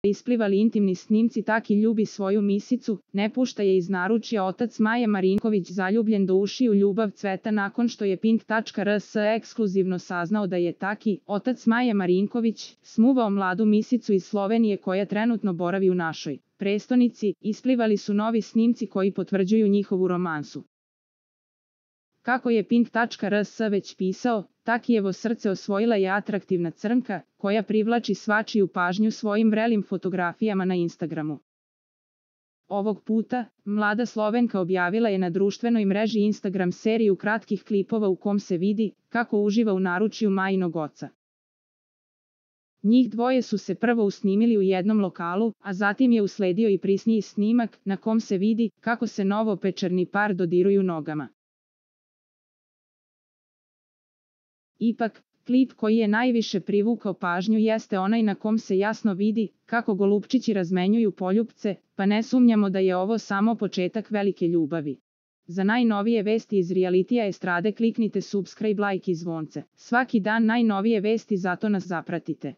isplivali intimni snimci Taki ljubi svoju misicu, ne pušta je iz naručja. Otac Maje Marinković zaljubljen do ušiju ljubav cveta nakon što je Pink.rs ekskluzivno saznao da je Taki, otac Maje Marinković, smuvao mladu misicu iz Slovenije koja trenutno boravi u našoj prestonici. Isplivali su novi snimci koji potvrđuju njihovu romansu. Kako je Pink.rs već pisao, Takijevo srce osvojila je atraktivna crnka, koja privlači svačiju pažnju svojim vrelim fotografijama na Instagramu. Ovog puta, mlada Slovenka objavila je na društvenoj mreži Instagram seriju kratkih klipova u kom se vidi kako uživa u naručju Majinog oca. Njih dvoje su se prvo usnimili u jednom lokalu, a zatim je usledio i prisniji snimak na kom se vidi kako se novopečerni par dodiruju nogama. Ipak, klip koji je najviše privukao pažnju jeste onaj na kom se jasno vidi kako golupčići razmenjuju poljupce, pa ne sumnjamo da je ovo samo početak velike ljubavi. Za najnovije vesti iz realitija estrade kliknite subscribe, like i zvonce. Svaki dan najnovije vesti, zato nas zapratite.